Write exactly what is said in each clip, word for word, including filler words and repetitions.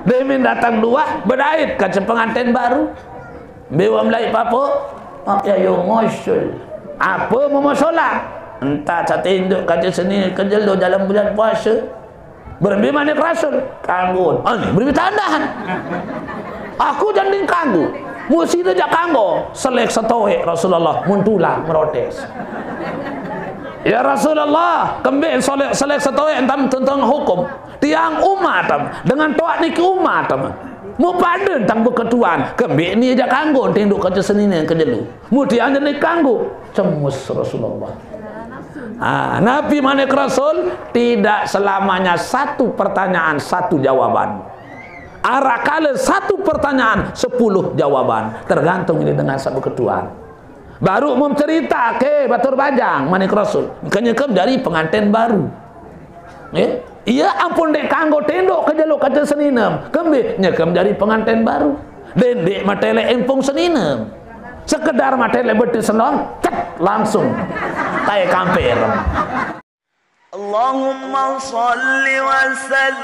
Demin datang duah, bedait kaca pengantin baru. Bewa melai papo, mak ya yo ngosul. Apa mau solat? Entah satinduk kaca seni kejelo dalam bulan puasa. Berbi manik Rasul, kanggo. Ah, ni berbi tandahan. Aku janding kanggo. Musi dia jak kanggo. Selek setoek Rasulullah, muntula merotes. Ya Rasulullah, kembik selek, selek setoek entam tentang hukum. Tiang umat am, dengan toak niki umat am. Mu pada tang beketuan, kembik ni jak kanggo, tinduk kaca senina kejelu. Mu tiang jadi kanggo, cemus Rasulullah. Ha, Nabi manik Rasul, tidak selamanya satu pertanyaan, satu jawaban. Arakala satu pertanyaan, sepuluh jawaban. Tergantung ini dengan sabu ketuan. Baru mencerita ke Batur Bajang, manik Rasul. Kenyekam dari pengantin baru. Eh? Ia ampun dek kanggo tinduk ke jalur kaca seninem. Kembik nyekam dari pengantin baru. Dendek matele empung seninem. Sekedar matele betis senong, cek, langsung. Tai kampir. اللهم صل وسلم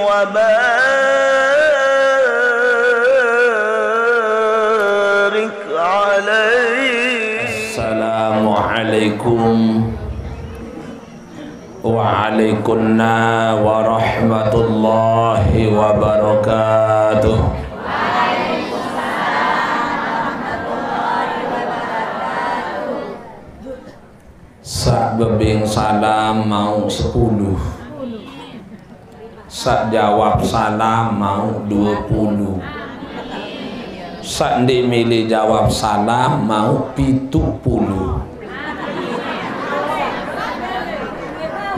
وبارك عليه. السلام عليكم. وعليكن ورحمة الله وبركاته. Sak bebing salam mau sepuluh. Sak jawab salam mau dua puluh. Sak ndik milih jawab salam mau pitu puluh.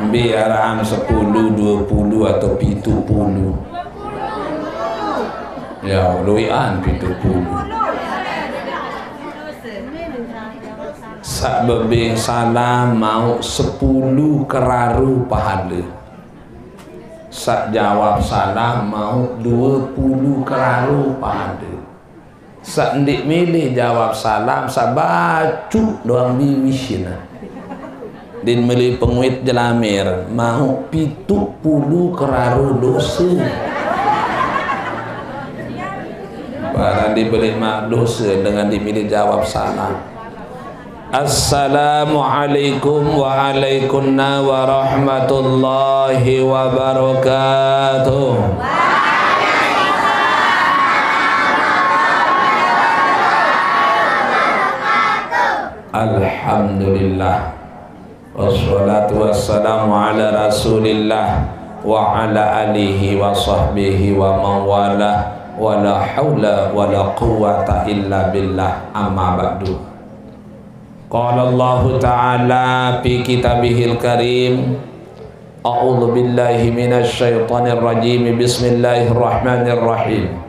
Mbi arahan sepuluh, dua puluh atau pitu puluh? Ya, luian pitu puluh. Sak bebing salam mau sepuluh keraru pahala. Sak jawab salam mau dua puluh keraru pahala. Sak ndik milih jawab salam, sak bacuk doang biwis ina. Din milih penguit jelamir, mau pitu puluh keraru dosa. Barang dibeli mak dosa dengan dimilih jawab salam. Assalamualaikum wa alaikunna warahmatullahi wabarakatuh. Alhamdulillah. Wassalatu wassalamu ala Rasulillah wa ala alihi wa sahbihi wa man wala, wa la haula wa la quwwata illa billah, amma ba'du. Qala Allahu ta'ala fi kitabihil karim, a'udzu billahi minasy syaithanir rajim, bismillahirrahmanirrahim.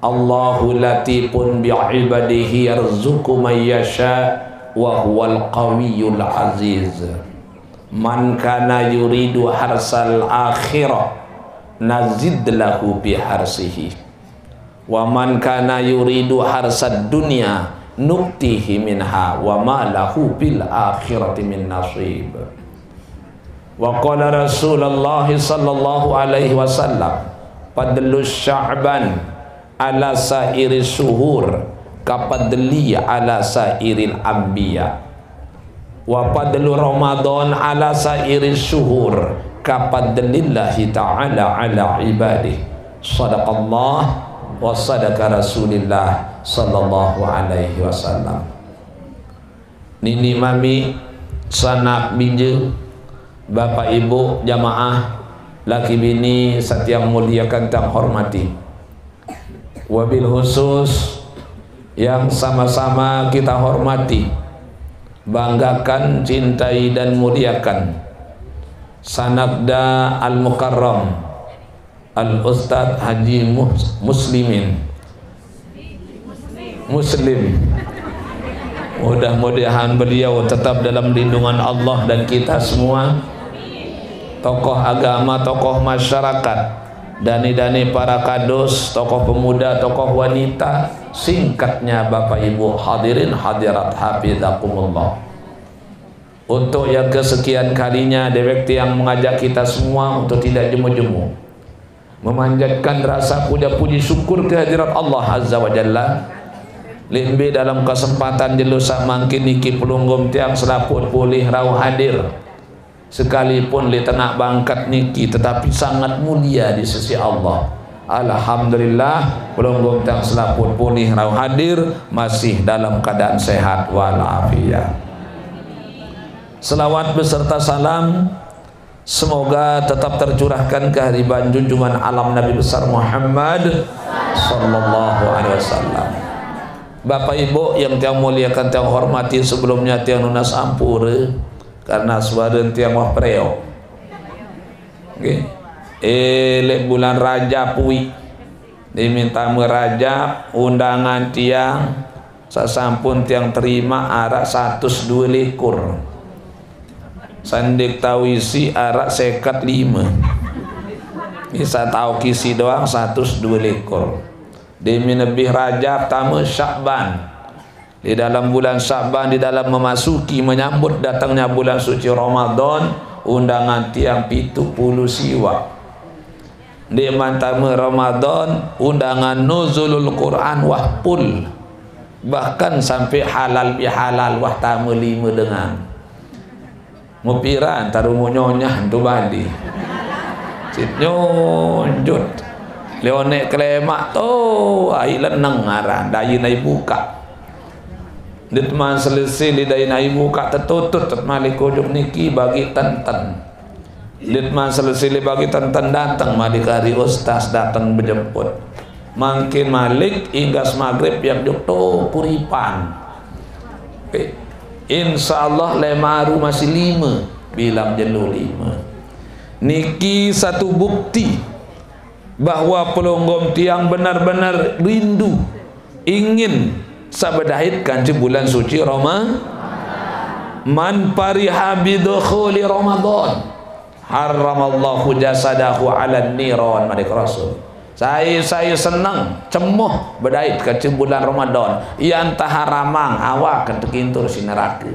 Allahu latifun bi ibadihi yarzuqu man yasha wa huwal qawiyul aziz. Man kana yuridu harsal akhirah nazid lahu bi harsihi. Wa man kana yuridu harsad dunya nuktihi minha wa ma lahu fil akhirati min nasib. Wa qala Rasulullah sallallahu alaihi wasallam, fadlu sya'ban ala sairi syuhur kafadli ala sairil anbiya. Wa fadlu Ramadan ala sairi syuhur kafadlillahi ta'ala ala ibadih. Sadaqallah wa sadaqa Rasulillah sallallahu alaihi wasallam. Nini mami, sanak binja, bapak ibu, jamaah, laki bini, satiang muliakan tang hormati. Wabil khusus yang sama-sama kita hormati, banggakan, cintai dan muliakan, sanakda Al-Mukarram Al-Ustadz Haji Mus- Muslimin Muslim. Mudah-mudahan beliau tetap dalam lindungan Allah dan kita semua. Tokoh agama, tokoh masyarakat, dani-dani para kadus, tokoh pemuda, tokoh wanita, singkatnya Bapak Ibu hadirin hadirat hafizakumullah. Untuk yang kesekian kalinya, dewek tiang mengajak kita semua untuk tidak jemu-jemu, memanjatkan rasa puja puji syukur kehadirat Allah Azza wa Jalla. Limbe dalam kesempatan jelo sak mangkin niki pelungguh tiang selaput polih rauh hadir. Sekalipun li tengah bangkat niki, tetapi sangat mulia di sisi Allah. Alhamdulillah, pelungguh tiang selaput polih rauh hadir, masih dalam keadaan sehat wal afiat. Selawat beserta salam semoga tetap tercurahkan kehariban junjungan alam Nabi besar Muhammad sallallahu alaihi wasallam. Bapak Ibu yang tiang muliakan, tiang hormati, sebelumnya tiang nunas ampura karena suara tiang wah preok. Nggih. Eh, lek bulan Rajab wi. Diminta me Rajab, undangan tiang sasampun tiang terima arak satus dua likur. Sandik tau isi arak seket lima. Bisa tau kisi doang satus dua likur. Demi lebih Rajab, tama Syakban. Di dalam bulan Syakban, di dalam memasuki, menyambut datangnya bulan suci Ramadan, undangan tiang pitu puluh siwak. Ndik mantama Ramadan, undangan nuzulul Quran wah pul. Bahkan sampai halal bihalal wah tama lima dengan. Mupira antara umur nyonyah tu bali. Sit nyonjut. Leonek kelemak tu, ai leneng aran, dai nai buka. Dit man selesai li dai nai buka tetutut, tet malik ujuk niki bagi tenten. Dit man selesai li bagi tenten datang malik hari ustaz datang bejemput. Mangkin malik inggas maghrib yang juk tu kuripan. Eh, insya Allah lemaru masih lima, bilang jelu lima. Niki satu bukti bahwa pelonggom tiang benar-benar rindu, ingin sabedahit kanci bulan suci Roma. Man fariha bidukhuli Ramadan, harramallahu jasadahu ala niron, madik Rasul. Saya, saya senang, cemoh bedait kanci bulan Ramadan. Ia entah haramang, awak kan tekintur si neraka.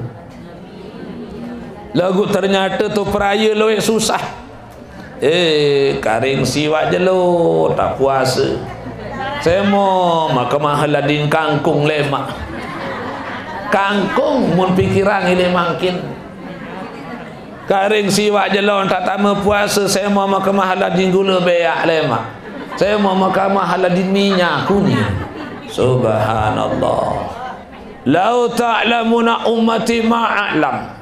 Lagu ternyata tu peraya lowek susah. Eh, karing siwak jelo, tak puasa. Semo maka mahal lading kangkung lemak. Kangkung mun pikiran ini mangkin. Karing siwak jelo tak tama puasa, semo maka mahal lading gula beak lemak. Semo maka mahal lading minyak kuning. Subhanallah. Lau ta'lamuna ummati ma a'lam.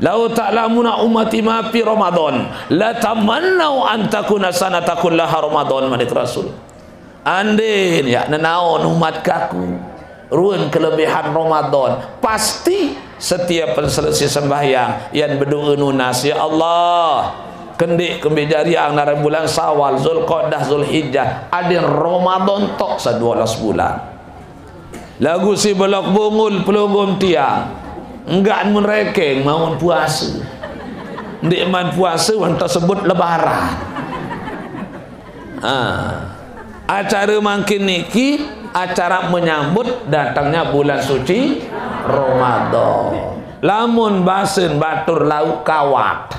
Lau ta'lamuna ummati ma fi Ramadan, la tamannau an takuna sanata kullaha Ramadan, manik Rasul. Andin ya nenaon umat kaku ruan kelebihan Ramadan, pasti setiap penselesai sembahyang yang berdoa nunas, ya Allah, kendik kembe jari ang naran bulan Sawal, Zulqa'dah, Zulhijjah, adin Ramadan tok sa dua belas bulan. Lagu si belok bungul pelunggung tiang. Enggak merekeng maun puasa. Ndik man puasa wan tersebut lebaran. Ha. Acara mangkin niki acara menyambut datangnya bulan suci Ramadan. Lamun basen batur lauk kawat.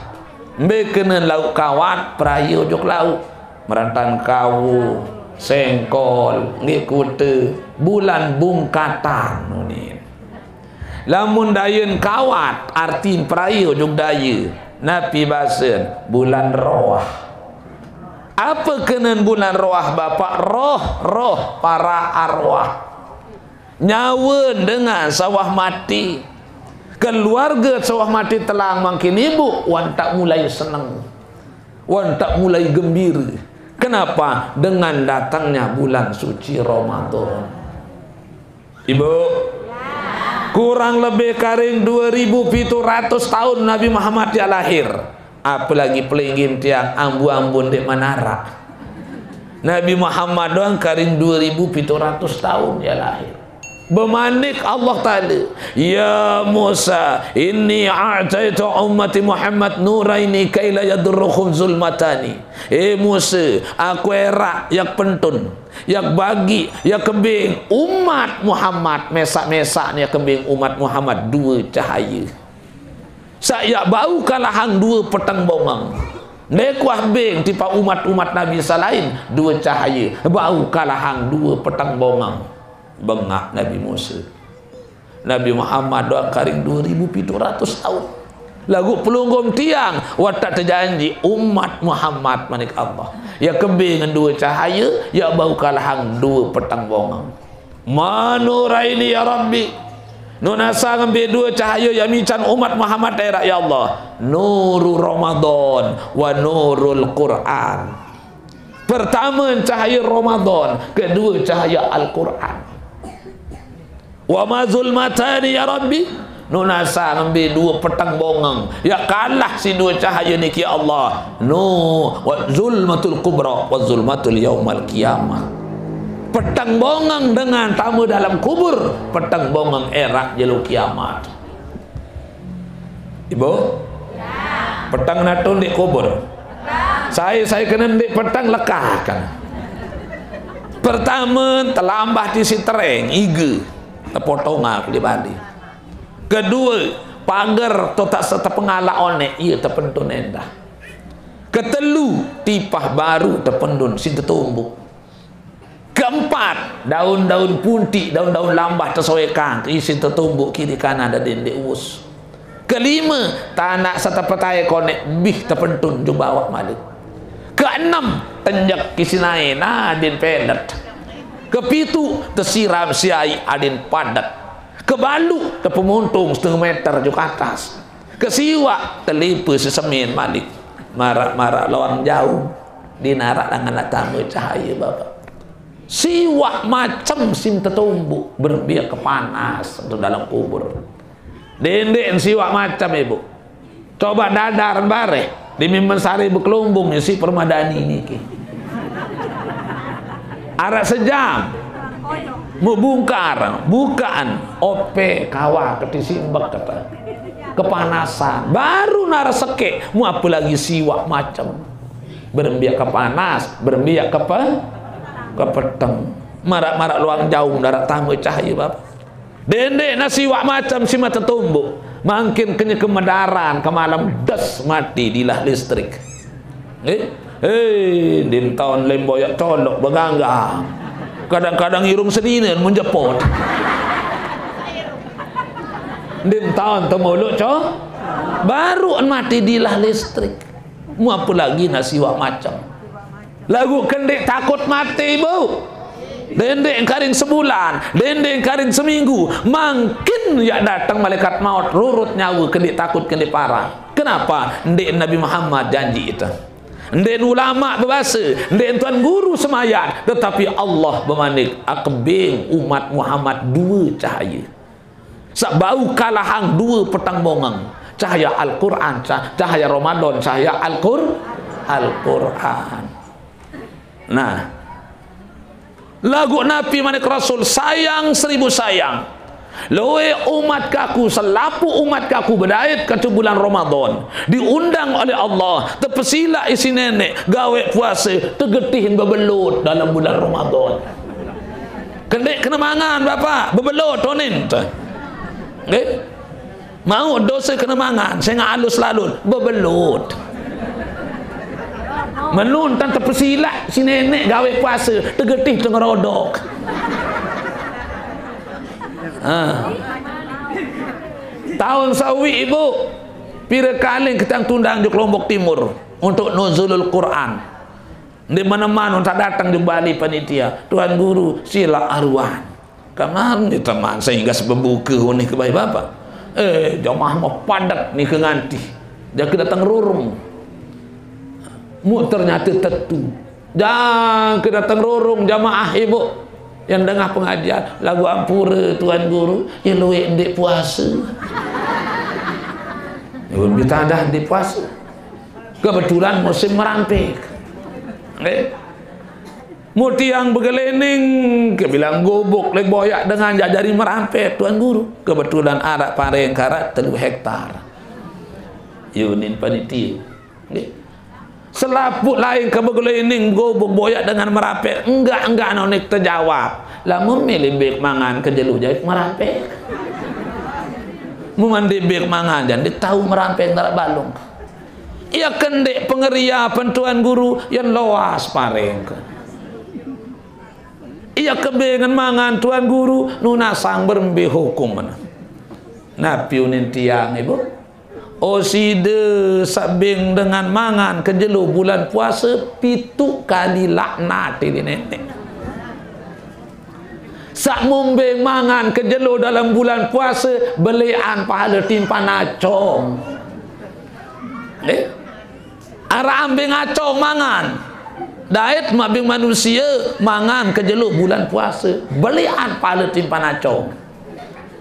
Mbe kenen lauk kawat, peraya ujug lauk. Merantan kawu, sengkol, nggih kute, bulan bungkatan unin. Lamun dayen kawat, artin peraya ujug daye. Napi basen, bulan roh. Apa kenen bulan roh, Bapak? Roh, roh, para arwah. Nyawa dengan sawah mati. Keluarga sawah mati telang mangkin ibu, wan tak mulai seneng. Wan tak mulai gembira. Kenapa? Dengan datangnya bulan suci Ramadan. Ibu, kurang lebih karing dua ribu pitu ratus tahun Nabi Muhammad ya lahir. Apalagi pelinggim tiang ambu-ambu ndik manara. Nabi Muhammad doang karing dua ribu pitu ratus tahun ya lahir. Bemanik Allah Ta'ala, "Ya Musa, inni a'taitu ummati Muhammad nuraini kaila yadurruhum zulmatani." Eh Musa, aku erak yak pentun, yak bagi, yak kembing umat Muhammad, mesak-mesak ni yak kembing umat Muhammad dua cahaya. Sak yak bau kalahang dua petang bongeng. Nekuah beng tipa umat-umat Nabi salain dua cahaya. Bau kalahang dua petang bongeng. Bengak Nabi Musa. Nabi Muhammad doang karing dua ribu pitu ratus tahun. Lagu pelunggom tiang, watak terjanji umat Muhammad manik Allah. Ya kebeng dua cahaya, ya bau kalahang dua petang bongeng. Manuraini ya Rabbi. Nunasa ngembe dua cahaya ya mican umat Muhammad erak ya Allah. Nuru Ramadan wa nurul Quran. Pertama cahaya Ramadan, kedua cahaya Al-Quran. Wa ma zulmatani ya Rabbi. Nunasa ngembe dua petang bongeng. Ya kalah si dua cahaya niki ya Allah. Nu wa zulmatul kubra wa zulmatul yaumal qiyamah. Petang bongeng dengan tama dalam kubur, petang bongeng erak jelo kiamat. Ibu? Petang natun di kubur. Saya, saya kena di petang lekakan. Pertama, telambah di si tereng, iga. Tepotong aku di Bali. Kedua, pagar tu tak serta pengalak onek, iya tepentun endah. Ketelu, tipah baru tependun, si tetumbuk. Keempat, daun-daun puntik, daun-daun lambah tersoekang, isi tertumbuk kiri kanan dan dendek us. Kelima, tanak serta petai konek bih tepentun jubah awak malik. Keenam, tenjek kisi nae nadin pelet. Kepitu, tesiram siai adin padat. Kebalu, tepemuntung setengah meter juk atas. Kesiwak, telipa sesemin malik. Marak-marak loang jauh, di narak dangan nak tama cahaya bapa. Siwak macam sim tetumbuk, berembiak ke panas tu dalam kubur. Dendek siwak macam, ibu. Coba dadar bareh, di mimpen sari bekelumbung isi permadani niki. Arak sejam. Mau bungkar, bukaan, ope, kawa, ketisimbek, kata. Kepanasan. Baru nara sekek, mau apa lagi siwak macam. Berembiak kepanas, berembiak kepe, kepeteng. Marak-marak luang jauh, darat tama cahaya, bapa. Dendek nasi wak macam si mata tumbuk. Mangkin kenya kemedaran, kemalam des mati dilah listrik. Eh, eh, din taun lemboyak colok beganggang. Kadang-kadang irung seninen menjepot. Din taun temuluk co, baru mati dilah listrik. Mu apa lagi nasi wak macam. Lagu kendek takut mati, bu. Dendek karing sebulan, dendek karing seminggu. Mangkin yak datang malaikat maut, rurut nyawa, kendek takut, kendek parah. Kenapa? Ndek Nabi Muhammad janji itu. Ndek ulama berbahasa, ndek tuan guru semayan, tetapi Allah bermanik, akebing umat Muhammad dua cahaya. Sebau kalahang dua petang bongeng. Cahaya Al-Quran, cah-, cahaya Ramadan, cahaya Al-Qur-, Al-Quran. Nah. Lagu Nabi manik Rasul, sayang seribu sayang. Loe umat kaku, selapu umat kaku bedait katu bulan Ramadan. Diundang oleh Allah, terpesila isi nenek, gawe puasa, tegetihin bebelut dalam bulan Ramadan. Kendek kena mangan, Bapak, bebelut onin tu. Nggih? Mau dosa kena mangan, sengah alus lalun, bebelut. Menun tan terpesilak si nenek gawe puasa, tegetih tengerodok. Ha. Tahun sawi ibu, pira kali kita tundang juk Lombok Timur untuk nuzulul Quran. Di mana-mana tak datang di Bali panitia. Tuan Guru, sila aruan. Kamar ni teman sehingga sebebuka ni ke bayi bapa. Eh, jamaah mau padat ni ke nganti. Dia ke datang rurung. Mu ternyata tetu. Jangan ke datang rurung jamaah ibu. Yang dengar pengajian, lagu ampura Tuan Guru, ya luik ndik puasa. Ibu minta dah ndik puasa. Kebetulan musim merampik. Eh? Mutiang begelening, kebilang gubuk, lek boyak dengan jajari merampik, Tuan Guru. Kebetulan arak pareng karat telu hektar. Yunin panitia. Nggih. Selaput lain ke begelening, gubuk boyak dengan merampik. Enggak, enggak nonik terjawab. Lamun milih bik mangan ke jelu jahit merampik. Mun ndeq beng mangan, jaq ndeq tao merampeng daraq balung. Ie kendeq pengeria pentuan guru, yen loas pareng. Ie kebengen mangan tuan guru, nunasang berembe hukum. Napi unin tiang, Ibu? Oh, side saq beng dengan mangan kejelo bulan puase, pituq kali laknat leq Neneq. Saq mun beng mangan kejelo dalem bulan puase, beleqan pahale timpan acong. Eh? Araq ambeng acong mangan. Dait mabeng manusie mangan kejelo bulan puase, beleqan pahale timpan acong.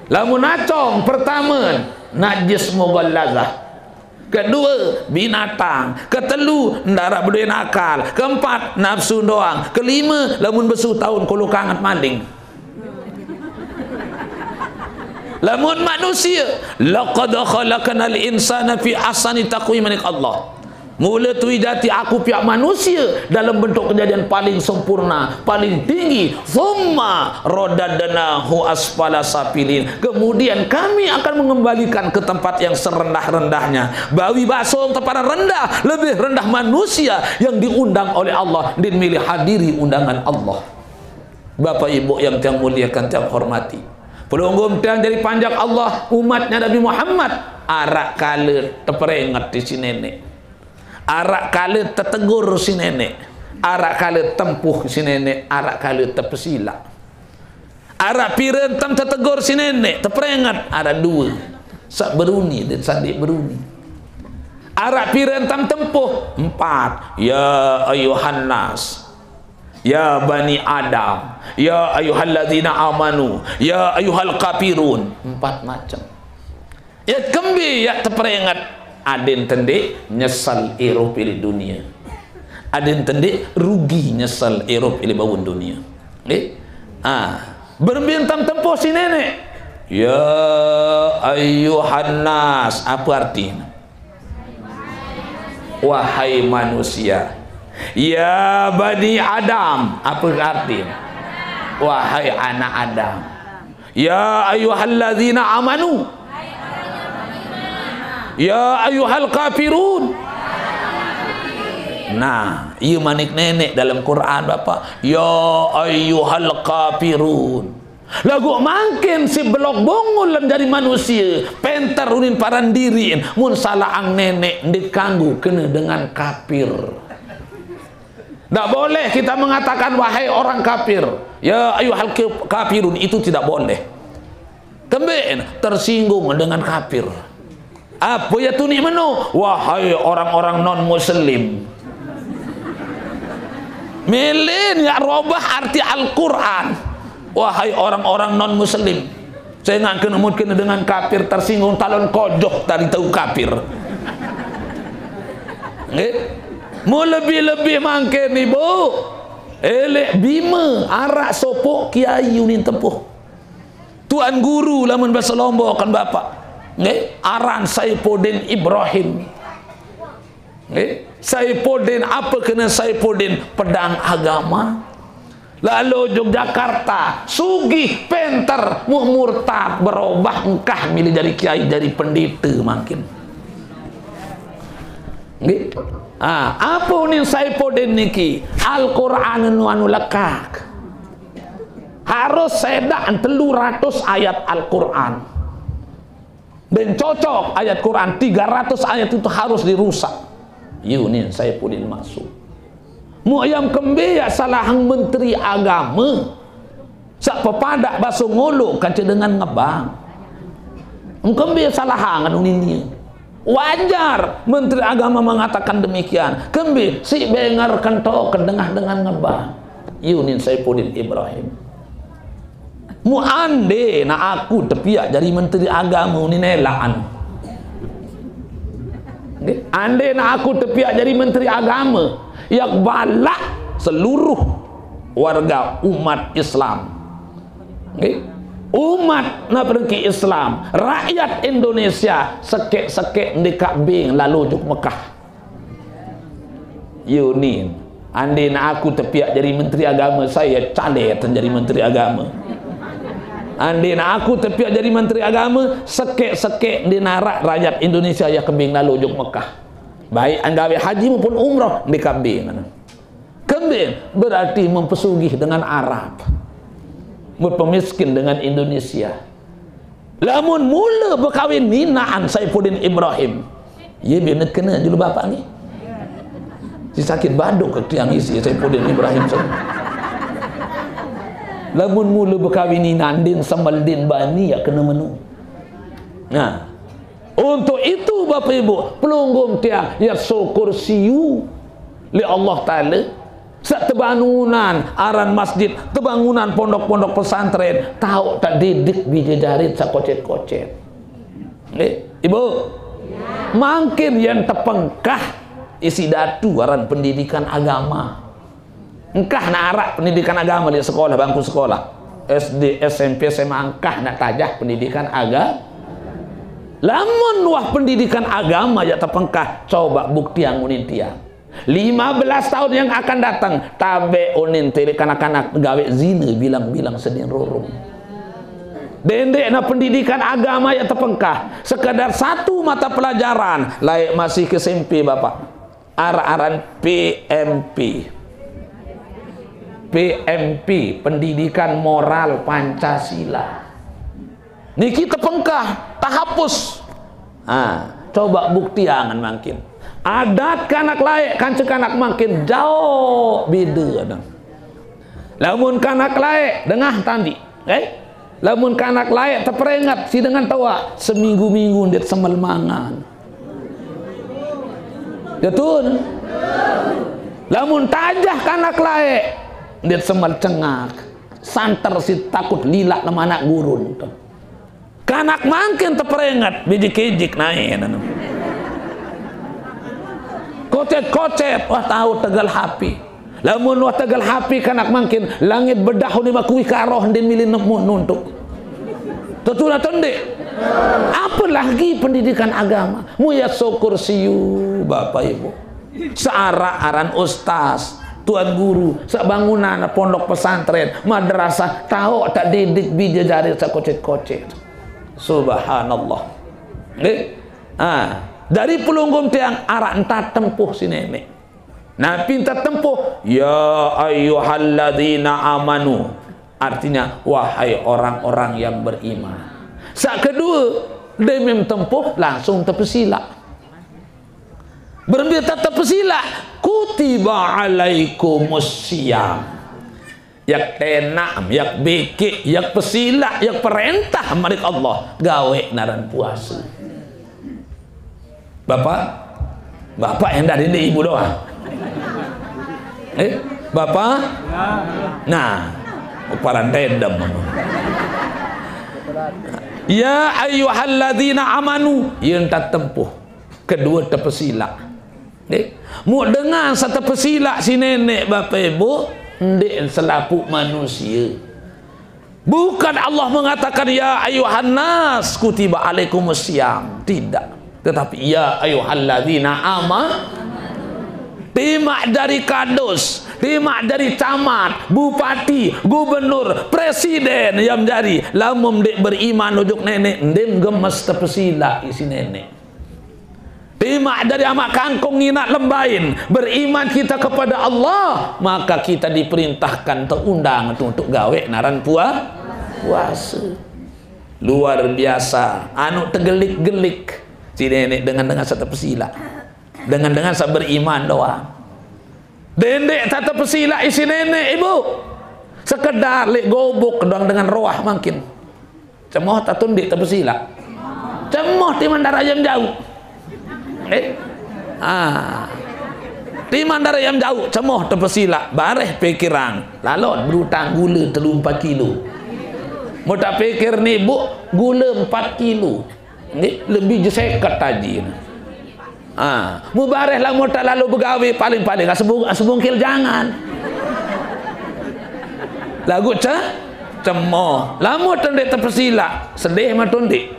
Lamun acong, pertame, najis mughallazah. Kedue, binatang. Ketelu, ndaraq bedoen akal. Keempat, nafsu doang. Kelime, lamun besu taun kolo kanget maling. Lamun manusie, "Laqad khalaqnal insana fi ahsani taqwim," manik Allah. Mule tui jati aku piaq manusie dalam bentuk kejadian paling sempurna, paling tinggi. Tsumma radadnahu asfala safilin. Kemudian kami akan mengembalikan ke tempat yang serendah-rendahnya. Bawi basong teparan rendah, lebih rendah manusia yang diundang oleh Allah, din milih hadiri undangan Allah. Bapak Ibu yang tiang muliakan, tiang hormati. Pelungguh tiang jari panjak Allah, umatnya Nabi Muhammad, araq kale teperinget siq Neneq. Araq kale tetegur siq Neneq. Araq kale tempuh siq Neneq, araq kale tepesilaq. Araq pire entan tetegur siq Neneq, teperinget, araq due. Saq beruni dan saq ndeq beruni. Araq pire entan tempuh, empat. Ya ayuhan nas. Ya bani Adam, ya ayyuhalladzina amanu, ya ayyuhal kafirun. Empat macem. Yaq kembe yaq teperinget, aden tendeq nyesel irup leq dunie. Aden tendeq rugi nyesel irup leq bawon dunie. Nggih? Ah, berembe entan tempuh siq Neneq. Ya ayyuhan nas, ape artine? Wahai manusia. Ya bani Adam, ape artine? Wahai anak Adam. Ya ayyuhalladzina amanu. Ya ayyuhal kafirun. Nah, ie manik Neneq dalem Quran, Bapak. Ya ayyuhal kafirun. Laguq mangkin siq belok bungul lem jari manusie, penter unin paran diriqn, mun salaqang Neneq ndeq kanggo kene dengan kafir. Ndak boleh kita mengatakan, "Wahai orang kafir, ya ayyuhal kaf-, kafirun," itu tidak boleh. Kembeqn tersinggung dengan kafir. Ape ye tuniq meno? Wahai orang-orang non-muslim. Mele yaq robah arti Al-Quran. Wahai orang-orang non-muslim. Sengaq kene mungkin dengan kafir tersinggung, talon kojoh tadi tau kafir. Nggih. Mu lebih-lebih mangkin, Ibu. Eleq Bime araq sopoq kiai unin tempuh. Tuan guru lamun base Lombok kan Bapak. Nggih, aran Saifuddin Ibrahim. Nggih, Saifuddin, ape kene Saifuddin? Pedang agama. Lalo Yogyakarta, sugih, penter, mu murtad, berobah, engkah milih jari kiai, jari pendete mangkin. Nggih. Ah, ape unin Saifuddin niki? Al-Qur'an nu anu lekaq. Harus sedaq telu ratus ayat Al-Qur'an. Dan cocok ayat Quran, tiga ratus ayat itu harus dirusak. Yunin Saifuddin masuk. Mu ayam kembe yaq salahang menteri agame. Saq pepadaq baso ngolo kance dengan ngebang. Engkembe salahang anu nini. Wajar menteri agama mengatakan demikian. Kembe siq benger kentok kedengah dengan ngebang. Yunin Saifuddin Ibrahim. Mu ande na aku tepiaq jari menteri agame unin elaqan. Nggih, ande na aku tepiaq jari menteri agame, yaq balaq seluruh warga umat Islam. Nggih. Umat naprengki Islam, rakyat Indonesia sekeq-sekeq ndekaq beng lalo juk Mekah. Yunin, ande na aku tepiaq jari menteri agame, saya calet jari menteri agame. Andin aku tepiak jadi menteri agama, sekek-sekek ndin araq rakyat Indonesia yaq kembing lalo ojok Mekah. Baik nggawe haji maupun umrah, ndin kembing. Kembing berarti mempesugih dengan Arab, berpemiskin dengan Indonesia. Lamun mula bekawin ninaan Saifuddin Ibrahim, ye bene kena julu bapak ni. Si sakit baduk ke tiang isi Saifuddin Ibrahim tu. Lamun mula bekawin ninaan din semeldin bani yaq kena menu. Nah, untuk itu, Bapak Ibu, pelungguh tiang, yaq syukur siu leq Allah Taala, saq tebangunan aran masjid, tebangunan pondok-pondok pesantren, taoq tedidik bije jarit saq kocet-kocet. Nggih, Ibu? Mangkin yen tepengkah isiq datu aran pendidikan agama. Engkah naq araq pendidikan agama leq sekolah, bangku sekolah. S D, S M P, S M A engkah naq tajah pendidikan aga-, lamun wah pendidikan agama yaq tepengkah, coba buktiang unin tiang. Lima belas tahun yang akan datang, tabeq unin tileq kanak-kanak gaweq zine bilang-bilang sedin rurung. Dendeqne pendidikan agama yaq tepengkah, sekedar satu mata pelajaran, laeq masih ke S M P, Bapak. Araq aran P M P. P M P, Pendidikan Moral Pancasila. Niki tepengkah, tahapus. Ha, coba buktiangen mangkin. Adat kanak laeq kance kanak mangkin jaoq bede, adang. Lamun kanak laeq, dengah tandiq, eh? Lamun kanak laeq teperinget siq dengan toaq, seminggu-minggu ndeq semel mangan. Betul? Lamun tajah kanak laeq, ndeq semel cengak. Santer siq takut lilaq leman anak gurun. Kanak mangkin teperinget, bijik-ijik nae nanu. Kocet-kocet, wah, taoq tegel H P. Lamun wah tegel H P kanak mangkin, langit bedah unin makui karoh ndin mili nemu nuntuk. Tetu atau ndeq? Apalagi pendidikan agama. Muya syukur siu, Bapak Ibu. Searaq aran ustaz, tuan guru, sebangunan pondok pesantren, madrasah, taoq tedidik bije jarit saq kocet-kocet. Subhanallah. Nggih? Ah, dari pelungguh tiang araq entat tempuh siq Neneq. Napi entat tempuh? Ya ayyuhalladzina amanu. Artinya, wahai orang-orang yang beriman. Saq kedue, demim tempuh langsung tepesilaq. Berembe tetep pesilaq, kutiba alaikumus siyam. Yaq tenaq, yaq bekeq, yaq pesilaq, yaq perentah manik Allah, gaweq naran puase. Bapak, bapak endah dini ibu doang. Eh, bapak? Nah, paran tedem. Ya ayyuhalladzina amanu, yen tak tempuh. Kedue tepesilaq. Nggih. Muq dengan saq tepesilaq siq Neneq, Bapak Ibu, ndeq selapuq manusie. Bukan Allah mengatakan, "Ya ayuhan nas, kutiba alaikumus siyam." Tidak. Tetapi, "Ya ayuhalladzina ama-," timaq jari kadus, timaq jari camat, bupati, gubernur, presiden, yam jari, lamun ndeq beriman ojok Neneq, ndeq gemes tepesilaq isiq Neneq. Timaq jari amaq kangkung nginaq lembain, beriman kita kepada Allah, maka kita diperintahkan, teundang untuk gaweq naran pua-, puase. Luar biasa. Anu tegelik-gelik. Si Neneq dengan-dengan saq tepesilaq. Dengan-dengan saq beriman doang. Dendeq saq tepesilaq isiq Neneq, Ibu. Sekedar leq gubuk doang dengan roah mangkin. Cemoh tatu ndeq tepesilaq? Cemoh timaq ndaraq yam jauq. Eh? Ah. Timaq ndaraq yam jauq, cemoh tepesilaq, bareh pikiran. Lalot berutang gule telu empat kilo. Mau tak pikir ni, Bu, gule empat kilo. Nggih, lebih je seket taji. Ah, mubareh lamun tak lalo begawe, paling-paling asebung-, asebungkil jangan. Laguq ce-, cemoh. Lamun tu ndeq tepesilaq, sedih mah tu ndeq?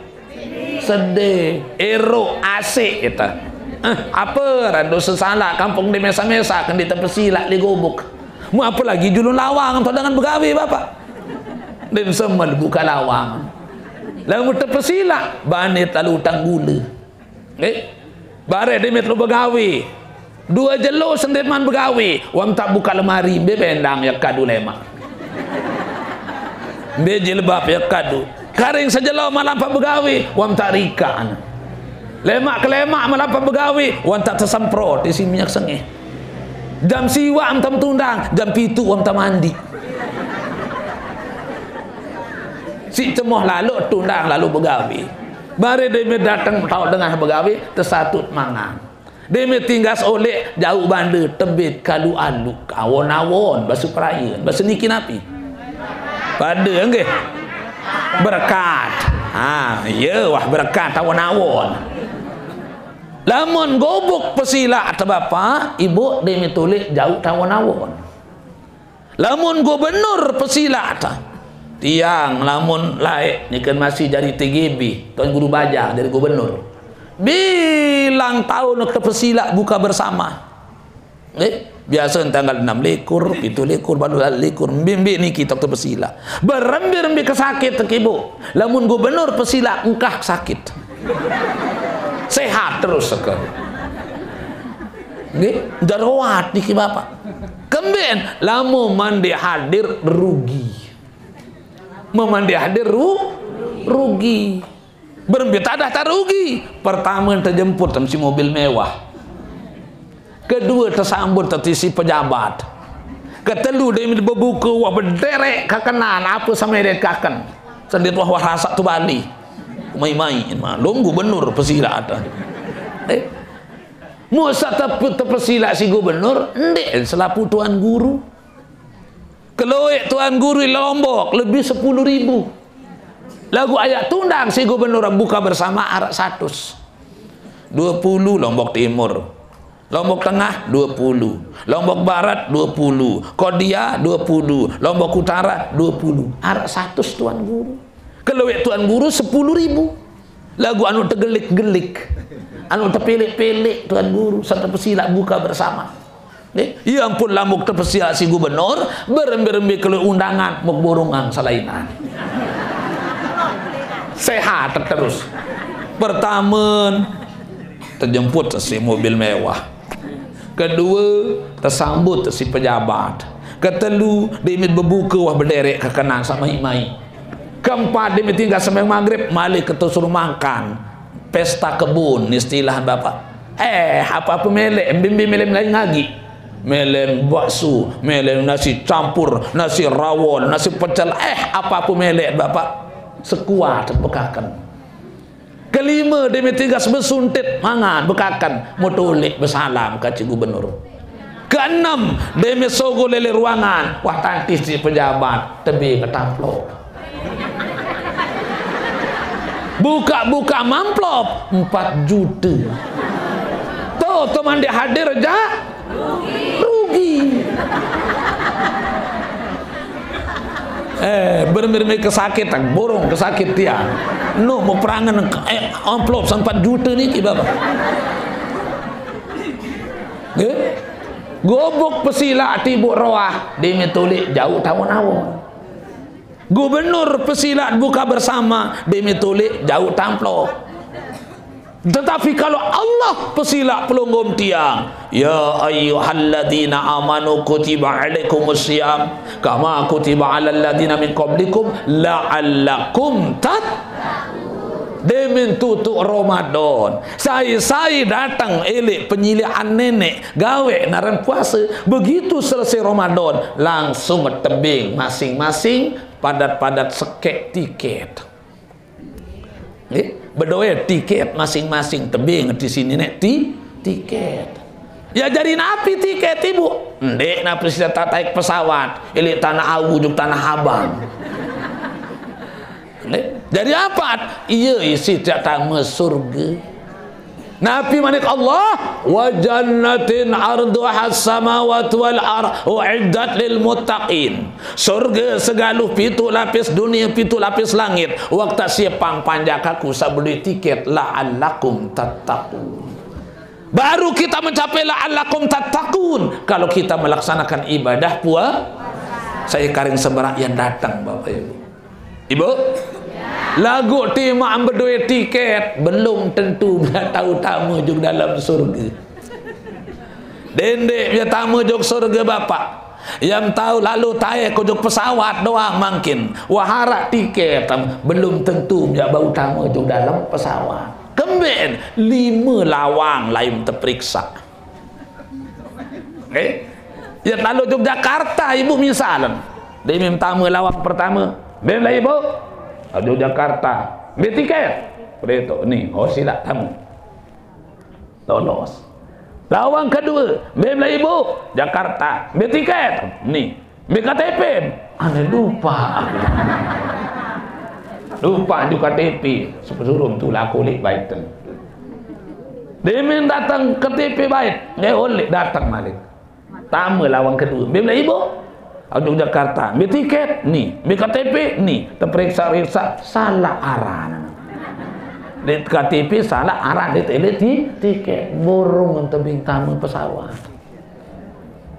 Sedih. Erok, asik kita. Eh, apa rando sesalaq kampung di mesa-mesa kan di tepesilaq di gubuk. Mu apalagi julun lawang tu dengan begawe, Bapak. Dem semel buka lawang. Lamun tepesilak, bane telu utang gule. Eh? Bare demit lu begawe. Due jelo sendeman begawe, wam tak buka lemari, mbe bendang ya kadu lemak. Mbe jilbab ya kadu. Karing sejelo malam pak begawe, wam tak rika. Lemak ke lemak malam pak begawe, wam tak tesemprot isi minyak sengeh. Jam siwak am tam tundang, jam pitu am tam mandi. Si cemoh lalu tundang lalu begawe. Bare deme dateng tau dengah begawe, tesatut mangan. Deme tinggas oleh jauh bande tebit kalu alu awon-awon, basu perayan, basu niki napi? Pada nggih. Berkat. Ha, ya wah berkat awon-awon. Lamun gobuk pesilak ta bapak, ibu deme tulik jauh tawon-awon. Lamun gubernur pesilak ta. Tiang lamun laek niken masih jari T G B, Tuan Guru Baja jari gubernur. Bilang taun kita pesilak buka bersama. Eh, biasa tanggal enam likur, pitu likur, balu likur, mbe-mbe niki tok pesilak. Berembe-rembe kesakit tekibu. Lamun gubernur pesilak engkah sakit. Sehat terus seke. Nggih, daruat niki Bapak. Kemben lamun mandi hadir rugi. Memandi hadir ru, rugi. Berembe tadah tak rugi. Pertama terjemput tam si mobil mewah. Kedua tersambut teti si pejabat. Ketelu demi bebuka wah bederek kakenan apa sama dek kaken. Sendit wah wah rasak tu bali. Mai-mai malum gubernur pesilak ada. Eh. Musa tepe, tepesilak si gubernur, ndek selaku tuan guru. Keloek tuan guru Lombok lebih sepuluh ribu. Lagu ayat tundang si gubernur buka bersama arak satus. Dua puluh Lombok Timur. Lombok Tengah dua puluh. Lombok Barat dua puluh. Kodia dua puluh. Lombok Utara dua puluh. Arak satus tuan guru. Keloek tuan guru sepuluh ribu. Lagu anu tegelik-gelik. Anu tepelik-pelik tuan guru. Serta pesilak buka bersama. Nggih. Ya ampun, lamun tepesilak si gubernur, berembe-rembe kalau undangan, mau borungan selainan. Sehat terus. Pertama, terjemput si mobil mewah. Kedua, tersambut si pejabat. Ketelu, dimit bebuka wah bederek kekenan sama imai. Keempat, dimit tinggal sampai maghrib, malik ke suruh makan. Pesta kebun, istilah Bapak. Eh, apa-apa melek, mbe-mbe melek lain lagi. Melek bakso, melek nasi campur, nasi rawon, nasi pecel, eh, apa-apa melek Bapak. Sekuat bekaken. Kelima, demi tiga besuntit mangan bekaken, mutulik besalam ka Cik Gubernur. Keenam, demi sogo lele ruangan, wah tantis si pejabat, tebing ketamplok. Buka-buka amplop empat juta. Tuh, teman dia hadir aja rugi. Eh, bermir-mir kesakit, borong kesakit dia. No, mau perangan, eh, amplop empat juta ni, Bapak. Nggih. Gubuk pesilak tibuk roah, demi tulik jauh tawon-awon. Gubernur pesilak buka bersama, demi tulik jauh tamplok. Tetapi kalau Allah pesilak pelunggum tiang, ya ayyuhalladzina amanu kutiba alaikumus siyam kama kutiba alal ladzina min qablikum la'allakum tat. Demin tutuk Ramadan, sai-sai datang elek penyilian nenek, gawe naran puasa. Begitu selesai Ramadan, langsung tebing masing-masing, padat-padat sekek tiket. Nggih, bedoe tiket masing-masing, tebing di sini nek ti, tiket. Ya, jadi napi tiket, Ibu? Ndek napi sida tak naik pesawat, ilik Tanah Awu juk Tanah Abang. Nggih. Jadi apa? Iya isi tak tama surga. Napi manik Allah, wa jannatin arduha samawati wal ar uiddat lil muttaqin. Surga segaluh pitu lapis dunia, pitu lapis langit. Waktu siapang panjak aku sabeli tiket la'allakum tattaqun. Baru kita mencapai la'allakum tattaqun kalau kita melaksanakan ibadah puasa. Saya karing seberak yang datang, Bapak Ibu. Ibu? Lagu timak bedoe tiket, belum tentu bia tau tama jok dalam surga. Dendik bia tama jok surga, Bapak. Yang tau lalu tae ko jok pesawat doang mangkin. Wah, arak tiket, belum tentu bia bau tama jok dalam pesawat. Kemben, lima lawang lain teperiksa. Eh? Ya, lalu Yogyakarta, Ibu, misalan. Dia minta tama lawang pertama. Bem lah, Ibu. Yogyakarta. Beli tiket. Begitu. Ni, oh, sila tama. Lolos. Lawang kedua. Bem lah, Ibu. Jakarta. Beli tiket. Ni. Beli K T P. Ane lupa. Lupa jok K T P. Suruh tu lah kulik baik tu. Dia datang K T P baik. Dia oleh datang balik. Tama lawang kedua. Bem lah, Ibu. Yogyakarta. Beli tiket. Ni. Beli K T P. Ni. Terperiksa-periksa. Salah aran. Di K T P salah aran, di tele ti-, tiket. Borong tebing tama pesawat.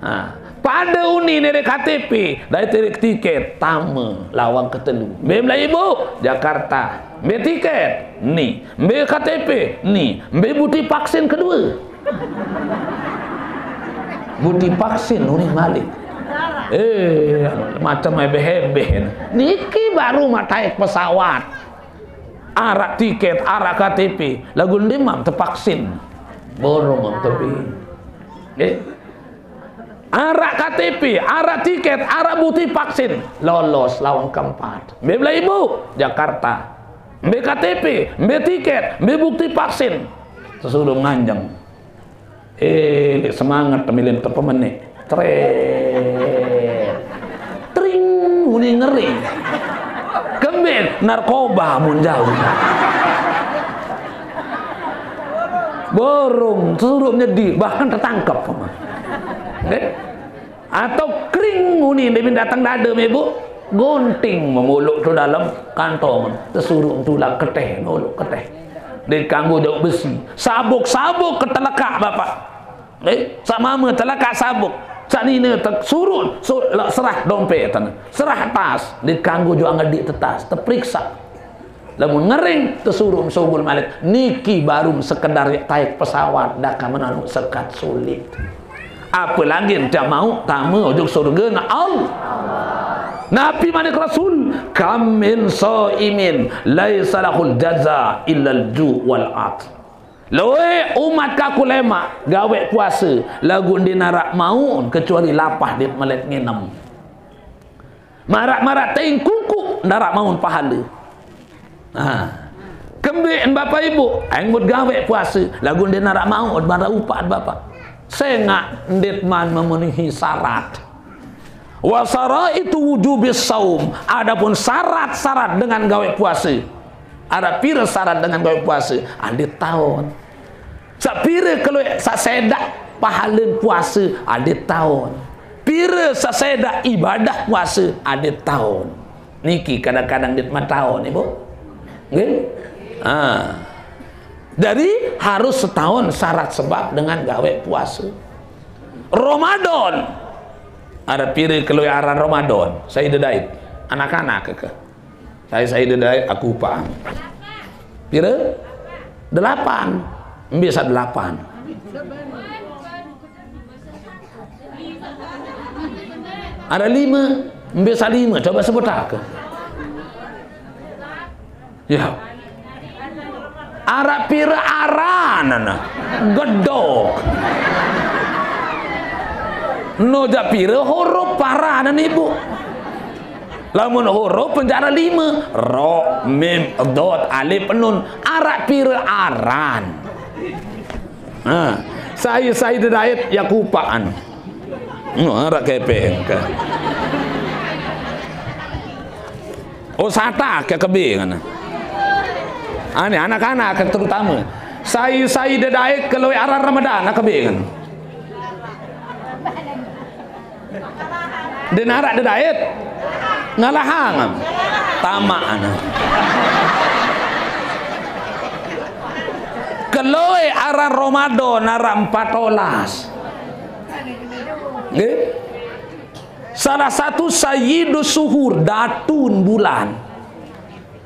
Ha. Pada uni ni di K T P, dari tele tiket, tama lawang ketelu. Bem lah, Ibu. Jakarta. Beli tiket. Ni. Beli K T P. Ni. Beli bukti vaksin kedua. Bukti vaksin uning malik. Eh, macam ebeh-ebeh. Niki baru mataik pesawat. Arak tiket, arak K T P. Lagu ndi mam tevaksin. Borong mam tepi. Eh. Arak K T P, arak tiket, arak bukti vaksin. Lolos lawang keempat. Beli lah, Ibu. Jakarta. Beli K T P, beli tiket, beli bukti vaksin. Sesuruh nganjeng. Eh, lek semangat temilin tepemenik. Tret. Tring, uni ngeri. Kemben, narkoba mun jauh. Borong, sesuruh nyedi, bahkan tertangkap. Eh? Atau kring uni, dia datang dada, Ibu. Gunting memuluk tu dalam kantong. Tesuruh tulang keteh, nuluk keteh. Dia kanggo jauh besi. Sabuk-sabuk ketelekak, Bapak. Eh, sak mama telekak sabuk. Sak nina te-, surun, su-, la-, serah dompet tana. Serah tas, dikanggo jok angedik tetas, teperiksa. Lamun ngering, tesuruh sogol malik. Niki baru sekedar taik pesawat, dah ka menanu sekat sulit. Apalagi dah mau tama ujung surga na Allah. Nabi manik Rasul, "Kam min shaimin laisa lahul jaza illal ju' wal 'athas." Loe umat kaku lemak gawe puasa, lagu ndeq naraq maun kecuali lapah dait melet nginem. Maraq-maraq teing kuku ndaraq maun pahale. Nah, kembeqn Bapak Ibu, aing mut gawe puase, laguq ndeq naraq maun maraq upaqn Bapak. Sengaq ndeqman memenuhi syarat. Wa syaraitu wujubis shaum, adapun syarat-syarat dengan gawe puase. Araq pire syarat dengan gawe puase? Ndeq taon. Saq pire kelueq saq sedaq pahalen puase adeq taon. Pire saq sedaq ibadah puase adeq taon. Niki kadang-kadang ndeq mataon, Ibu. Nggih? Ah. Jadi, harus setaon syarat sebab dengan gawe puase. Ramadan. Araq pire kelueq aran Ramadan? Sai dedait. Anak-anak ke? Sai-sai dedait aku upaq. Pire? Delapan. Mbe saq delapan? Araq lime. Mbe saq lime? Coba sebutake. Ya. Araq pire aranne? Gedok. No jaq pire huruf aranne, Ibu? Lamun huruf penjara lime, ro, mim, dot, alif, nun. Araq pire aran? Nah, sai-sai dedait yaq kupaqan. No, araq kepeng ke. Oh, sata ke kebingan. Ane anak-anak ke terutama. Sai-sai dedait kelueq aran Ramadan, kebingan. Ndeq naraq dedait. Ngalahang. Tamaq ane. Kelueq aran Ramadan araq empat olas. Nggih. Salah satu sayyidus suhur, datun bulan.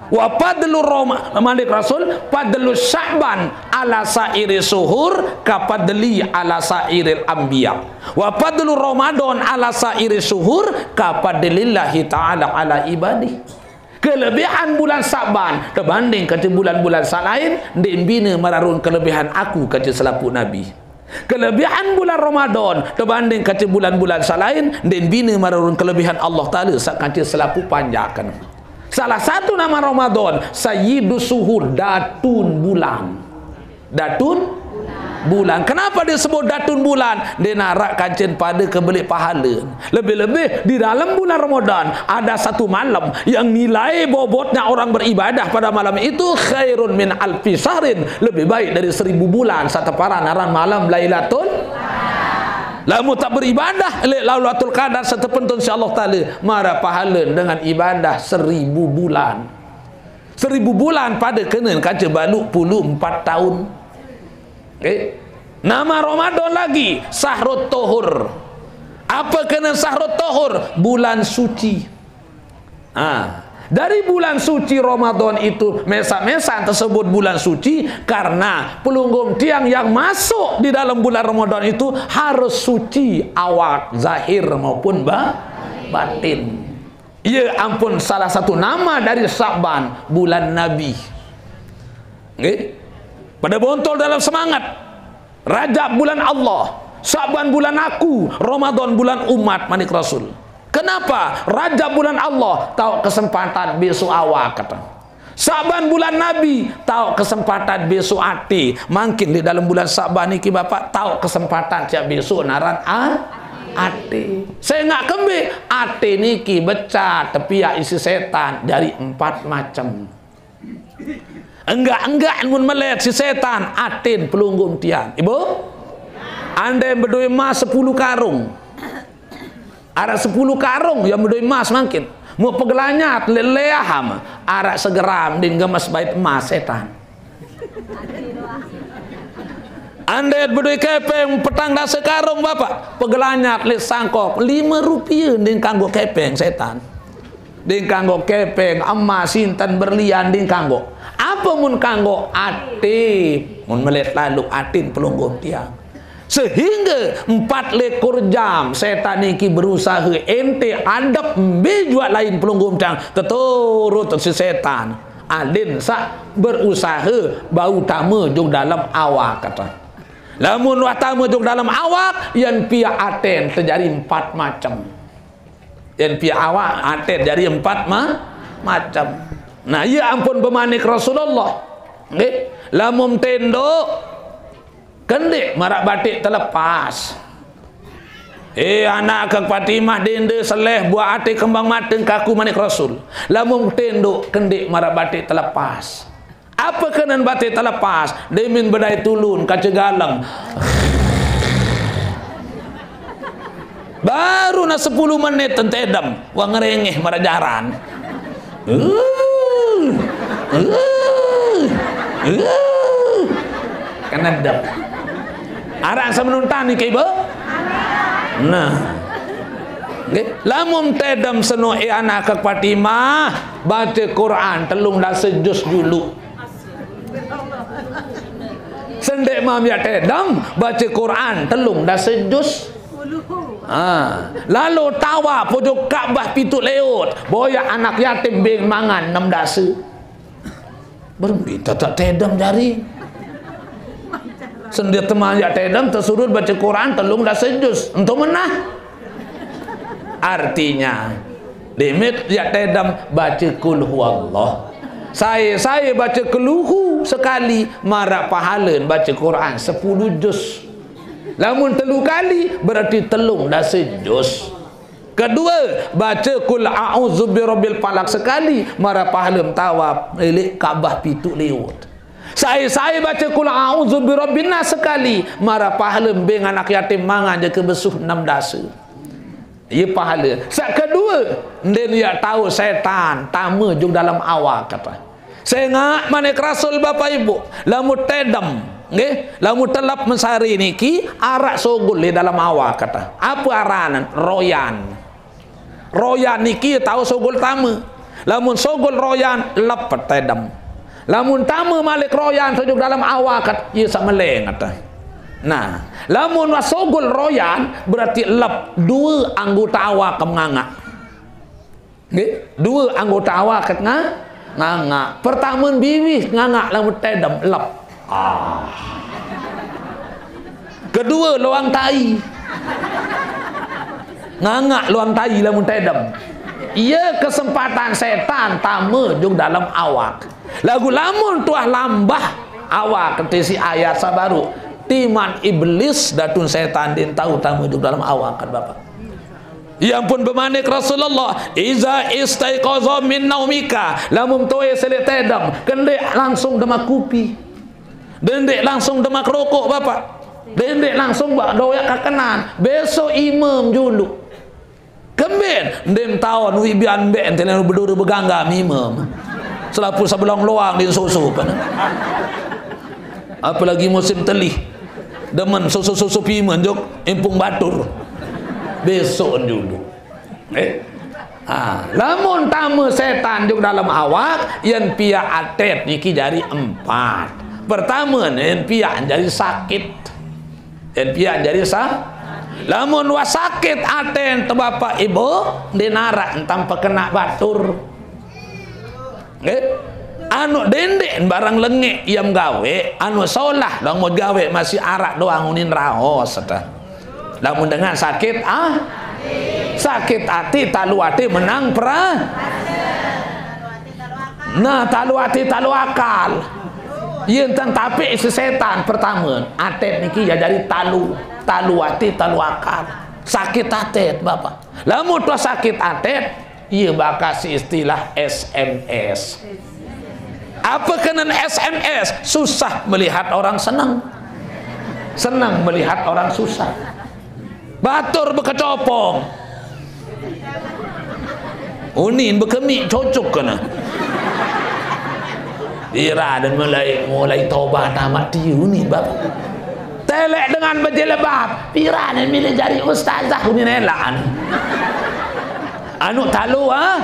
Wa fadlu Roma-, manik Rasul, fadlu Sya'ban ala sa'iri suhur ka fadli ala sa'iril anbiya. Wa fadlu Ramadan ala sa'iri suhur ka fadlillahi ta'ala ala ibadih. Kelebihan bulan Sa'ban tebanding kance bulan-bulan saq lain, ndeq bine mararun kelebihan aku kance selapuq nabi. Kelebihan bulan Ramadan tebanding kance bulan-bulan saq lain, ndeq bine mararun kelebihan Allah Taala saq kance selapuq panjaken. Salah satu nama Ramadan, Sayyidus Suhur, datun bulan. Datun bulan. Kenapa disebut datun bulan? Ndeq naraq kancen pade kebeleq pahale. Lebih-lebih di dalam bulan Ramadan ada satu malam yang nilai bobotnya orang beribadah pada malam itu khairun min alfi syahrin, lebih baik dari seribu bulan, saq teparan aran malam Lailatul. Lamun taq beribadah leq Lailatul Qadar saq tepentun siq Allah Taala, maraq pahale dengan ibadah seribu bulan. Seribu bulan pade kenen kance baluq pulu empat taun. Nggih. Nama Ramadan lagi, Sahrut Tuhur. Ape kenen Sahrut Tuhur? Bulan suci. Ah, dari bulan suci Ramadan itu mesaq-mesaq tesebut bulan suci karena pelungguh tiang yang masuk di dalam bulan Ramadan itu harus suci awak zahir maupun ba-, batin. Ie ampun salah satu nama dari Sa'ban, bulan Nabi. Nggih. Pade bontol dalam semangat. Rajab bulan Allah, Sa'ban bulan aku, Ramadan bulan umat, manik Rasul. Kenapa? Rajab bulan Allah, taoq kesempatan besoq awak, kata. Sa'ban bulan Nabi, taoq kesempatan besoq ate. Mangkin leq dalem bulan Sa'ban niki, Bapak, taoq kesempatan siq besoq naran a-, ate. Sengaq kembeq? Ate niki becat tepiaq isiq setan jari empat macem. Enggaq-enggaq mun melet siq setan, aten pelungguh tiang. Ibu? Andai bedoe emas sepulu karung. Araq sepulu karung yang bedoe emas mangkin. Muq pegelanyat leq leah am, araq segeram din gemes bait emas setan. Andai bedoe kepeng petang dase karung, Bapak, pegelanyat leq sangkok, lime rupie din kanggo kepeng setan. Din kanggo kepeng, emas, sinten, berlian, din kanggo. Ape mun kanggo? Ate. Mun melet laluq atin pelungguh tiang. Sehingge empat likur jam setan niki berusahe ente adep mbe juaq lain pelungguh tiang, teturut siq setan. Adin saq berusahe bau tame jok dalem awak, kata. Lamun wah tame jok dalem awak, yen piaq aten tejari empat macem. Yen piaq awak, aten jari empat ma-, macem. Nah, ie ampun bemanik Rasulullah. Nggih, lamun tendok, kendeq maraq batik telepas. Eh, anak ke Fatimah, dende seleh, buaq ate kembang mateng kaku, manik Rasul. Lamun tendok, kendeq maraq batik telepas. Ape kenen batik telepas? Demin bedait tulun kance galeng. Baru ne sepulu menit tentedem, wah ngerengeh maraq jaran. Uh, uh, uh. Kenedem. Araq semenuntan niki, Ibu? Nah. Nggih, lamun tedem seno, eh, anak ke Fatimah, bace Quran telung dase juz juluq. Sendeq mam yaq tedem, bace Quran telung dase juz. Ah, lalo tawaf ojok Ka'bah pituq leot, boyaq anak yatim beng mangan enem dase. Berembe tetep tedem jari. Sendeq teman yaq tedem tesuruh bace Quran telung dase juz. Ento menah. Artinya, demit yaq tedem bace Qul Huwallah. Sae-sae bace Qul Hu sekali, maraq pahalen bace Quran sepulu juz. Lamun telu kali, berarti telung dase juz. Kedue, bace Qul A'udzu Birabbil Falaq sekali, maraq pahalen tawaf leq Ka'bah pituq leot. Sae-sae bace Qul A'udzu Birabbin Nas sekali, maraq pahalen beng anak yatim mangan jangke besuh enem dase. Ie pahale. Saq kedue, ndeqn yaq tao setan tame jok dalem awak, kata. Sengaq manik Rasul, Bapak Ibu, lamun tedem, nggih, lamun telep mesari niki araq sogol leq dalem awak, kata. Ape aranne? Royan. Royan niki tao sogol tame. Lamun sogol royan, lep tedem. Lamun tame malik royan, sujug dalam awak, ye sak meleng ata. Nah, lamun wah sogol royan, berarti lep dua anggota awak nganga. Nggih, dua anggota awak ket nga-, nganga. Pertama biwih nganga lamun tedem, lep. Ah. Kedua, luang tai. Nganga luang tai lamun tedem. Iya kesempatan setan tame jug dalam awak. Lagu lamun tuah lambah awak, keti si ayat sabaru. Timan iblis datun setan din tau tame jug dalam awak, kan Bapak. Ya ampun, bemanik Rasulullah, "Iza istaiqaza min naumika," lamun toe selet tedem, kendek langsung demak kupi. Dendek langsung demak rokok, Bapak. Dendek langsung bak doyak kakenan. Besok imam julu. Kemben, ndem taon wi bian mbek ente lalu beduru begangga imam. Selapu sebelong luang di susu, kan. Apalagi musim telih. Demen susu-susu pimen jok, impung batur. Besok julu. Eh? Ah, lamun tame setan jug dalam awak, yen piak atet niki jari empat. Pertama, yen piak jari sakit. Yen piak jari sa-, lamun wah sakit aten te Bapak Ibu, ndenarak entam pekena batur. Nggih. Anu dendek barang lengek iam gawe, anu solah dong mau gawe masih arak doang unin raos, seta. Lamun dengan sakit, ah, sakit ati, talu ati menang pra. Nah, talu ati, talu akal. Yen tan tapi isi setan pertama, atet niki ya dari talu, talu ati, talu akal. Sakit atet, Bapak. Lamun tuh sakit atet, iya bakas istilah S M S. Apa kenen S M S? Susah melihat orang senang. Senang melihat orang susah. Batur bekecopong. Unin bekemik cocok kena. Ira dan mulai, mulai tobat amat dia unin, Bapak. Telek dengan berjilbab. Pira ni milih jari ustazah unin elaan. Anu talu, ah?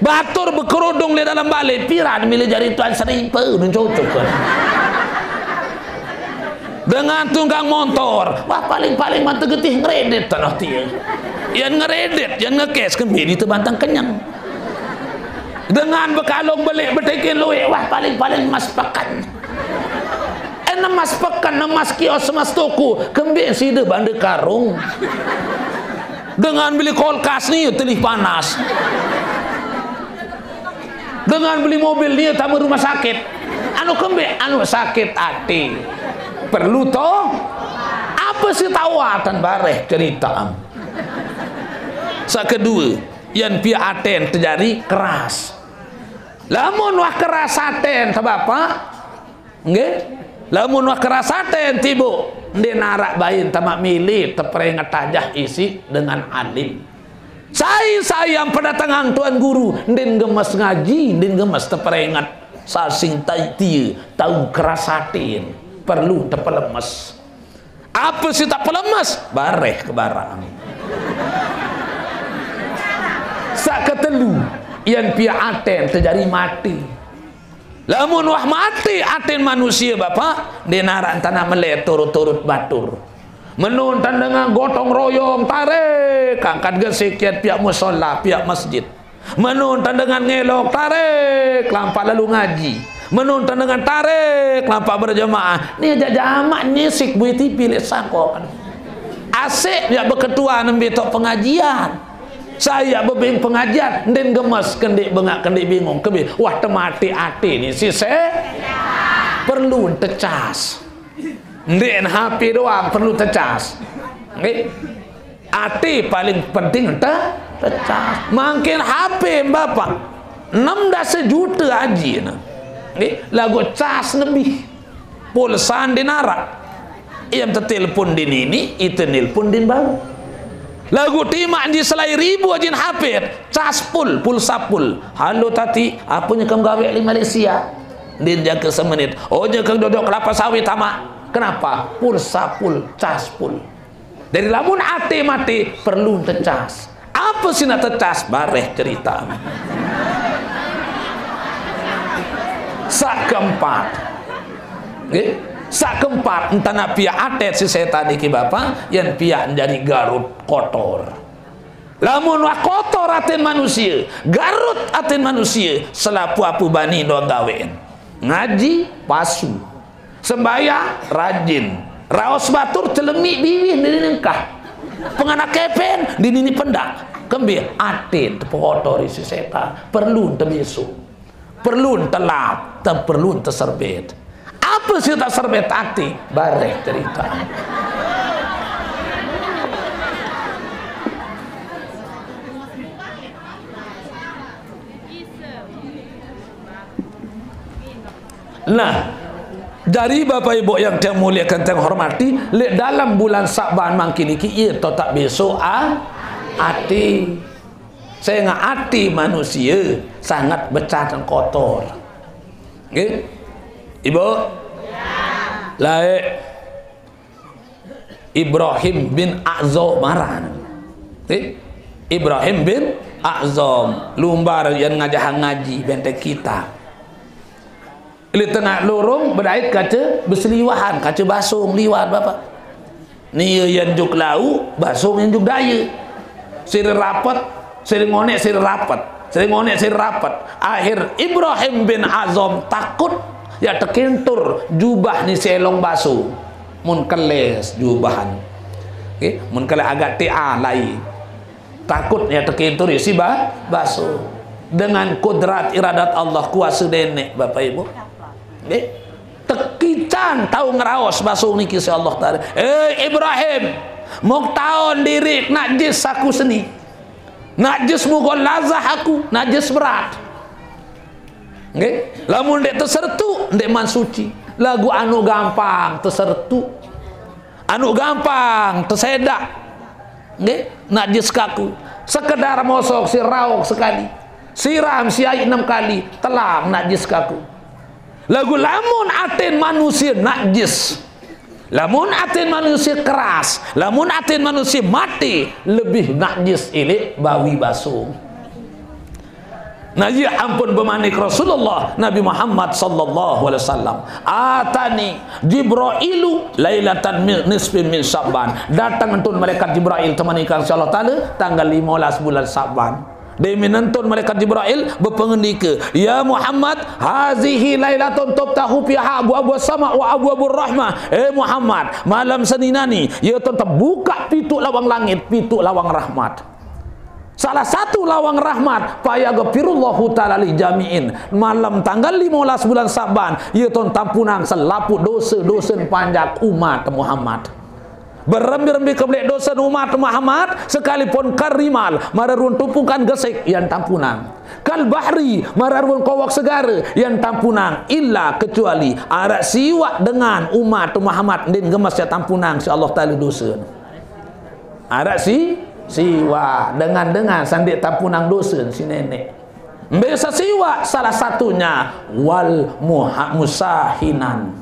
Batur bekerudung di dalam balik. Pira ni milih jari tuan seripa unin cocok kena. Dengan tunggang montor. Wah, paling-paling mantu getih ngeredit tanah tia. Yang ngeredit, yang ngekes kembali tebantang kenyang. Dengan bekalung belik betekin luik, wah, paling-paling emas pekan. Eh, emas pekan, emas kios, emas toko, kembali sida banda karung. Dengan beli kulkas ni, telih panas. Dengan beli mobil ni, tamu rumah sakit. Anu kembe, anu sakit ati. Perlu toh? Apa si tawatan bareh cerita? Sa kedua, yang pia aten terjadi keras. Lamun wah keras aten, ta Bapak? Nggih? Lamun wah keras aten tiba, ndenarak bain tamak milih, teperingat tajah isi dengan alim. Sai-sai yang pedatangan Tuan Guru, ndin gemes ngaji, ndin gemes teperingat. Sasing tai tia, tau keras aten, perlu tepelemes. Apa si tak pelemes? Bareh ke barang. Sak ketelu, yang pia aten terjadi mati. Lamun wah mati aten manusia, Bapak, ndenarak tanah melet turut-turut batur. Menun tan dengan gotong royong, tarik, angkat gesik kiat pihak musola, pihak masjid. Menun tan dengan ngelok, tarik, lampak lalu ngaji. Menun tan dengan tarik, lampak berjamaah. Ni aja jamak nyisik bui tipi lek sangkok. Asik ya beketua nembe tok pengajian. Saya bebing pengajian, ndin gemes, kendik bengak, kendik bingung, kebe. Wah, temati ati ni si se. Perlu tecas. Ndin H P doang perlu tecas. Nggih. Ati paling penting te-, tecas. Makin H P, Bapak. Enam belas juta aji na. Nggih, lagu cas lebih. Pulsa ndin arak. Iam tetelpon di nini, ite nelpon din baru. Lagu timak di selai ribu ajin hapit, cas pul, pulsa pul. Halo tati, apa nyekam gawe li Malaysia? Din jaga semenit. Oh, jaga dodok kelapa sawit tamak. Kenapa? Pulsa pul, cas pul. Dari lamun ate mati, perlu tecas. Apa sih nak tecas? Bareh cerita. Sak keempat. Nggih? Sak keempat, entana piak atet si setan niki, Bapak, yen piak njari garut kotor. Lamun wah kotor atin manusia, garut atin manusia, selapuh apu bani doang gawen. Ngaji, pasu. Sembahyang, rajin. Raos batur, celemik biwih, nini nengkah. Penganak kepen, nini pendak. Kembe atin, tepekotori si setan. Perlu tebisu. Perlu telap, te-, perlu teserbet. Apa sih tak serbet ati? Bareh cerita. Nah, dari Bapak Ibu yang saya muliakan, saya hormati, lek dalam bulan Sa'ban mangkin iki, iya to tak besok, ah, ati. Sehingga ati manusia sangat becah dan kotor. Nggih? Ibu? Lae. Ibrahim bin A'zam aran. Nggih? Ibrahim bin A'zam. Lumbar yen ngajahang ngaji, benteng kitab. Li tengah lorong bedait kaca beseliwahan, kaca basong liwat, Bapak. Nia yen juk lau, basong yen juk daya. Sira rapet, sira ngonek, sira rapet. Sira ngonek, sira rapet. Akhir Ibrahim bin Azam takut, ya tekintur jubah ni selong basong. Mun keles jubahan. Oke, mun keles agak tia lai. Takut ya tekintur ya si ba-, basong. Dengan kodrat iradat Allah, kuasa denek, Bapak Ibu. Nggih. Tekican tau ngeraos basong niki si Allah Taala. "Eh, Ibrahim, mok taon diri najis aku seni. Najis mughalazah aku, najis berat." Nggih. Lamun ndek tesertu, ndek man suci. Lagu anu gampang tesertu. Anu gampang tesedak. Nggih, najis kaku. Sekedar mosok si raok sekali. Siram si ai enam kali, telang najis kaku. Lagu lamun atin manusia najis. Lamun atin manusia keras, lamun atin manusia mati, lebih najis ilik bawi basong. Nah, iya ampun bemanik Rasulullah Nabi Muhammad sallallahu alaihi wasallam. "Atani Jibrailu lailatan min, nisfin min Sya'ban." Datang entun malaikat Jibrail temanikang si Allah Taala tanggal lima belas bulan Sya'ban. Demi nentun malaikat Jibrail bepengendika, "Ya Muhammad, hazihi lailatun tuftahu fiha abwabu sama wa abwabu rahmah." Eh Muhammad, malam seninani, ya ton terbuka pitu lawang langit, pitu lawang rahmat. Salah satu lawang rahmat, fayaghfirullahu ta'ala li jami'in. Malam tanggal lima belas bulan Saban, ya ton tampunang selapuh dosa-dosa panjak umat Muhammad. Berembi-rembi kebelik dosa umat Muhammad, sekalipun karimal, mararun tumpukan gesik, yan tampunang. Kal bahri, mararun kowok segara, yan tampunang. Illa, kecuali, arak siwak dengan umat Muhammad, ndin gemes ya tampunang, si Allah Taala dosa. Arak si, siwak dengan-dengan sandik tampunang dosa si nenek. Mbesa siwak salah satunya wal muha-, musahinan.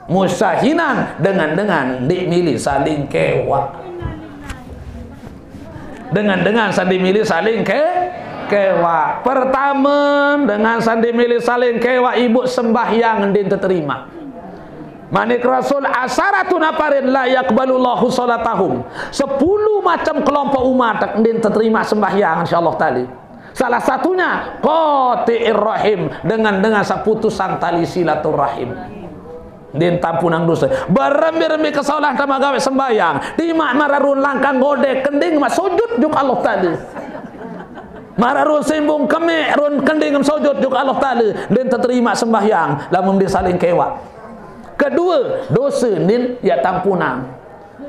Musahinan dengan-dengan ndik milih saling kewak. Dengan-dengan sandik milih saling ke, kewak. Pertama, dengan sandik milih saling kewak, ibu sembahyang ndin terima. Manik Rasul, "Asaratu nafarin la yaqbalullahu salatahum." Sepuluh macam kelompok umat ndin terima sembahyang, insyaallah taala. Salah satunya qati'ir rahim, dengan, dengan seputusan tali silaturahim. Ndin tampunang dosa. Berembi-rembi kesalahan tama gawe sembahyang. Timak mararun langkang godek kending ma sujud juk Allah Taala. Mararun simbung kemek run kending sujud juk Allah Taala. Ndin terima sembahyang lamun ndin saling kewak. Kedua, dosa ndin ya tampunang.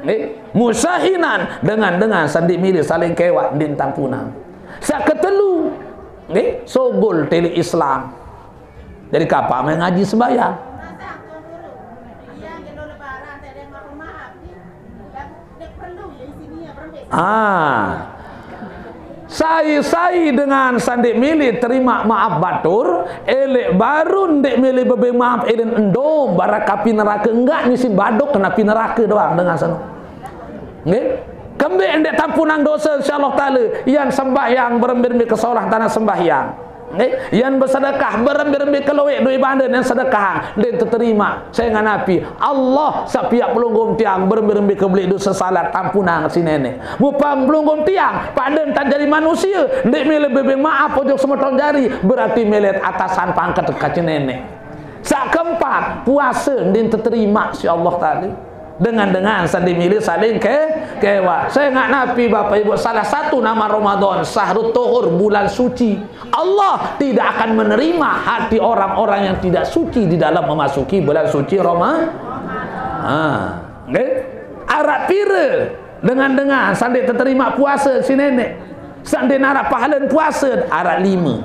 Nggih, musahinan dengan-dengan sandik milih saling kewak ndin tampunang. Sak ketelu, nggih, sogol tele Islam. Jadi kapan main ngaji sembahyang? Ah. Sai-sai dengan sandik milih terima maaf batur, elek baru ndik milih bebe maaf, elin endo, barak api neraka enggak, nyisin badok kena api neraka doang dengan sana. Nggih? Kembe ndeq tampunang dose, insyaallah taala, yan sembahyang berembe-rembe kesolah tanah sembahyang. Nggih, yan besedekah berembe-rembe kelueq duit bande yan sedekah, ndeq teterima. Sengaq napi? Allah saq piaq pelungguh tiang berembe-rembe kebeleq dose salat tampunang siq Neneq. Mupang pelungguh tiang pade ntan jari manusie, ndeq mele bebeng maap ojok semeton jari, berarti mele atasan pangket kance Neneq. Saq keempat, puase ndeq teterima siq Allah taala. Dengan-dengan saq ndeq mele saling ke-, kewaq. Sengaq napi, Bapak Ibu, salah satu nama Ramadan, syahrut tuhur, bulan suci. Allah tidak akan menerima hati orang-orang yang tidak suci di dalam memasuki bulan suci Roma-, ha, nggih. Araq pire dengan-dengan saq ndeq teterima puase siq Neneq? Saq ndeq naraq pahalen puase, araq lime.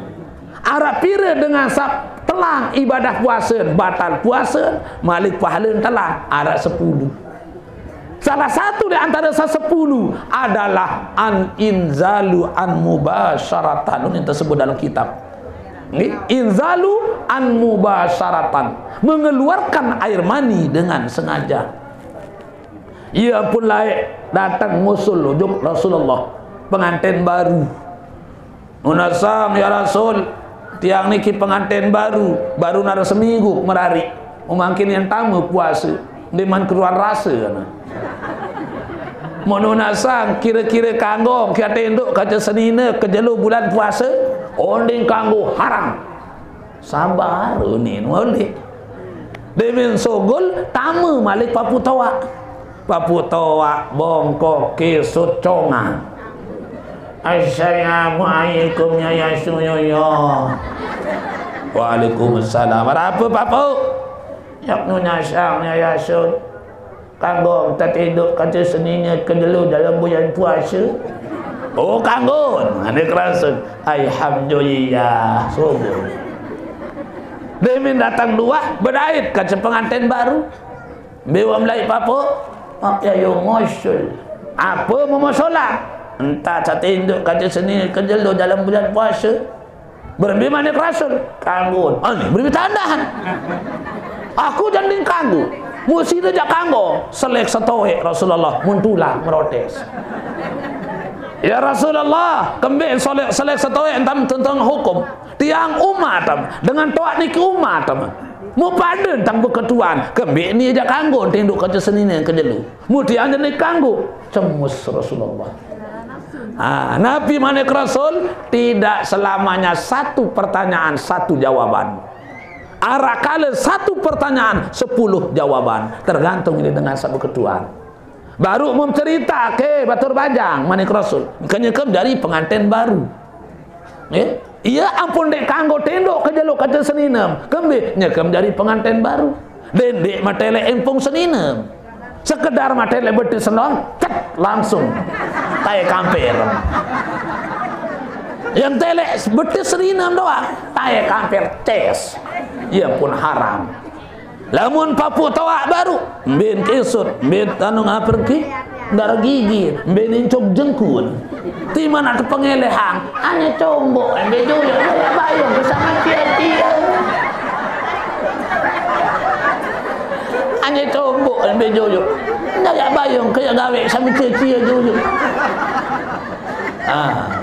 Araq pire dengan saq telang ibadah puase, batal puase, malik pahalen telang, araq sepulu. Salah satu di antara saq sepulu adalah al-inzalu an mubasyaratan. Ini tersebut dalam kitab. Nggih, inzalu an mubasyaratan, mengeluarkan air mani dengan sengaja. Ie pun laeq dateng ngusul ojok Rasulullah, penganten baru. Nunasang, "Ya Rasul, tiang niki penganten baru, baru nare seminggu merariq. Mangkin yang tame puase, ndeqman keruan rase," ne. Mun nunasang, "Kire-kire kanggo kiaq tendok kance senine kejelo bulan puase?" "Oh, ndeq kanggo, haram." Sabar, unin uleq. Demen sugul, tame malik papuq toaq. Papuq toaq, bongkok, kisut, congang. "Assalamualaikum, ya Rasulullah." "Waalaikumsalam. Araq ape, Papuq?" "Yaq nunasang, ya Rasul, kanggo tetinduk kance senine kejelo dalem bulan puase." "Oh, kanggo." Ane kerasen, "Alhamdulillah, sugul." Demen dateng duah, bedait kance penganten baru. "Mbe wah melait, Papuq?" "Maq, ya, yo ngusul." "Ape mauq solat?" "Entan tetinduk kance senine kejelo dalem bulan puase." "Berembe manik Rasul?" "Kanggo." "Ane berembe tandahan?" "Aku jaq ndeq kanggo. Muq side jaq kanggo." Selek setoeq Rasulullah, mun tulak merotes. "Ya Rasulullah, kembe selek, selek setoeq entan tentang hukum? Tiang umat em, dengan toaq niki umat em. Muq pade entan beketuan, kembe nie jaq kanggo tinduk kance senine kejelo? Muq tiang jaq ndeq kanggo." Cemus Rasulullah. Ah, napi manik Rasul? Tidak selamanya satu pertanyaan, satu jawaban. Araq kale satu pertanyaan, sepuluh jawaban. Tergantung ini dengan saq beketuan. Baruq mun cerite, "Ke batur bajang," manik Rasul, "engke nyekem jari penganten baru." Nggih? Ie ampun ndeq kanggo tinduk kejelo kance seninem. Kembe? Nyekem jari penganten baru. Dendeq meteleq empung seninem. Sekedar meteleq betis senong, cet, langsung tae kamper. Yang teleq betis seninem doang, tae kamper, ces. Ie pun haram. Lamun papuq toaq baru, mbe kisut, mbe anu ngaperki, ndaq gigi, mbe nincuk jengkun. Timaq naq tepengelehang, anye combok, mbe joyok, ndaq bayung ke same cie-cie. Anye combok, mbe joyok, ndaq bayung ke gawe same cie-cie joyok. Ah.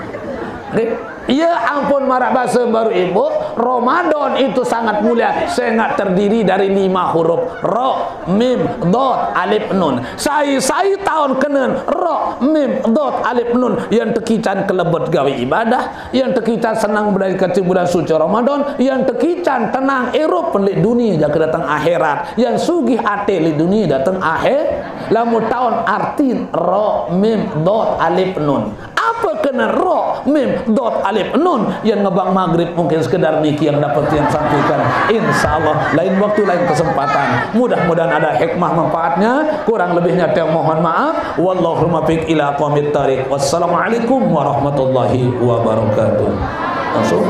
Nggih. Ie ampun maraq base baruq, Ibu, Ramadan itu sangat mulia, sengaq terdiri dari lima huruf, ro, mim, dot, alif, nun. Sai-sai taun kenen ro, mim, dot, alif, nun, yan tekican kelebet gawe ibadah, yan tekican senang bedait kance bulan suci Ramadan, yan tekican tenang irup leq dunie jangke dateng akhirat, yan sugih ate leq dunie dateng akhir. Lamun taun artin ro, mim, dot, alif, nun. Ape kenen ro, mim, dot, alif, nun? Yan ngebang magrib, mungkin sekedar niki yang dapat tiang sampaikan. Insyaallah, lain waktu, lain kesempatan. Mudah-mudahan ada hikmah manfaatnya. Kurang lebihnya tiang mohon maaf. Wallahul muwaffiq ila aqwamit thariq. Wassalamualaikum warahmatullahi wabarakatuh. Langsung.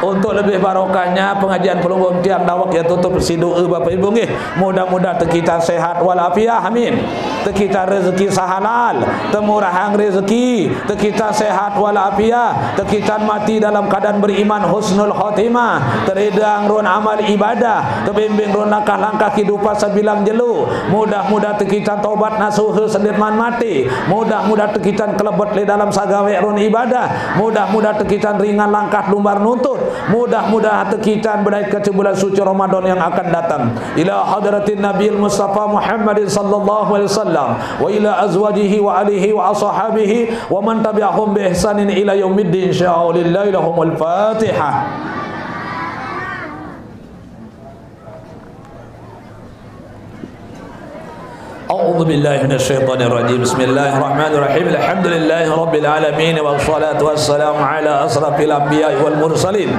Untuk lebih barokahnya pengajian pelungguh tiang dawek ya tutup siq doe, Bapak Ibu, nggih. Mudah-mudahan tekican sehat walafiat. Amin. Tekitan rezeki sahalal, temurahang rezeki, tekitan sehat walafiat, tekitan mati dalam keadaan beriman husnul khotimah, teridang ron amal ibadah, tebimbing ron langkah-langkah kehidupan sebilang jelo. Mudah-mudah tekitan tobat nasuha sendeman mati. Mudah-mudah tekitan kelebet le dalam sagawe ron ibadah. Mudah-mudah tekitan ringan langkah lumbar nuntut. Mudah-mudahan tekitan bedait ke bulan suci Ramadan yang akan datang. Ila hadratin Nabil Mustafa Muhammadin sallallahu alaihi wasallam, wa ila azwajihi wa alihi wa ashabihi wa man tabi'ahum bi ihsanin ila yaumiddin. Insyaallah, lahumul Fatihah. أعوذ بالله من الشيطان الرجيم. بسم الله الرحمن الرحيم. الحمد لله رب العالمين، والصلاة والسلام على أشرف الأنبياء والمرسلين،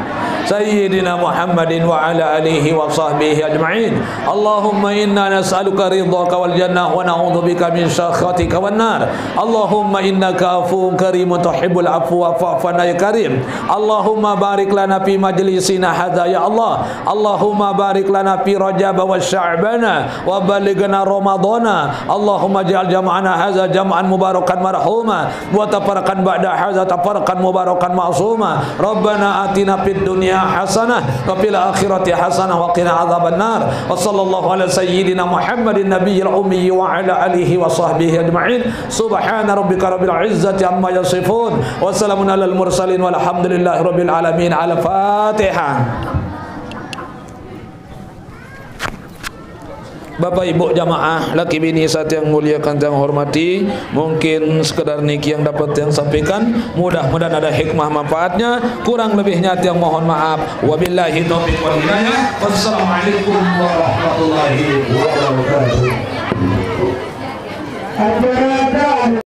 سيدنا محمد وعلى آله وصحبه أجمعين. اللهم إنا نسألك رضاك والجنة، ونعوذ بك من سخطك والنار. اللهم إنك عفو كريم تحب العفو فاعف عنا يا كريم. اللهم بارك لنا في مجلسنا هذا يا الله. اللهم بارك لنا في رجب وشعبان وبلغنا رمضان. اللهم اجعل جمعنا هذا جمعا مباركا مرحوما، وتفرقنا بعد هذا تفرقا مباركا معصوما. ربنا آتنا في الدنيا حسنة وفي الآخرة حسنة وقنا عذاب النار. وصلى الله على سيدنا محمد النبي الأمي وعلى آله وصحبه أجمعين. سبحان ربك رب العزة عما يصفون. وسلام على المرسلين والحمد لله رب العالمين. الفاتحة. Bapak Ibu jamaah, laki bini satiang muliakan, tiang hormati, mungkin sekedar niki yang dapat tiang sampaikan. Mudah-mudahan ada hikmah manfaatnya. Kurang lebihnya tiang mohon maaf. Wabillahi taufiq wal hidayah. Wassalamualaikum warahmatullahi wabarakatuh.